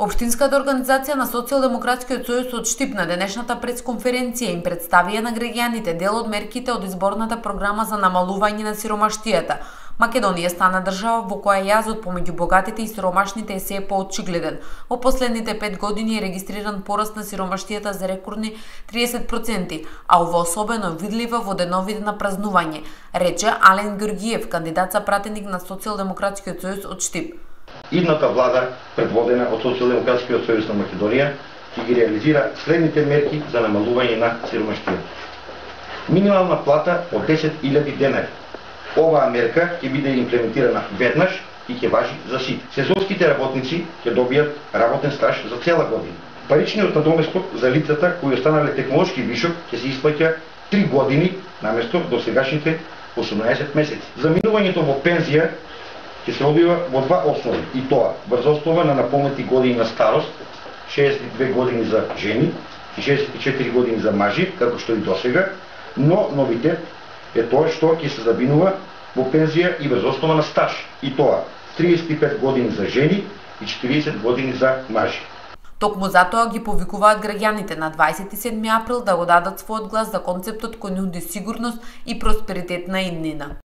Општинската организација на Социјалдемократскиот сојуз од Штип на денешната пресконференција им представија на граѓаните дел од мерките од изборната програма за намалување на сиромаштијата. Македонија стана држава во која јазот помеѓу богатите и сиромашните е се поочигледен. Во последните 5 години е регистриран пораст на сиромаштијата за рекордни 30%, а ова особено е видливо во деновите на празнување, рече Ален Георгиев, кандидат за пратеник на Социјалдемократскиот сојуз од Штип. Идната влада, предводена од Социјалдемократскиот сојуз на Македонија, ќе ги реализира следните мерки за намалување на сиромаштијата. Минимална плата од 10.000 денари. Оваа мерка ќе биде имплементирана веднаш и ќе важи за сите. Сезонските работници ќе добијат работен стаж за цела година. Паричниот надоместок за лицата кои останале технолошки вишок ќе се исплаќа 3 години наместо досегашните 18 месеци. Заминувањето во пензија ќе се одбива во два основи, и тоа врз основа на наполнети години на старост, 62 години за жени и 64 години за мажи, како што и досега, но новитет е тоа што ќе се заминува во пензија и врз основа на стаж, и тоа 35 години за жени и 40 години за мажи. Токму затоа ги повикуваат граѓаните на 27 април да го дадат својот глас за концептот кој нуди сигурност и просперитет на иднина.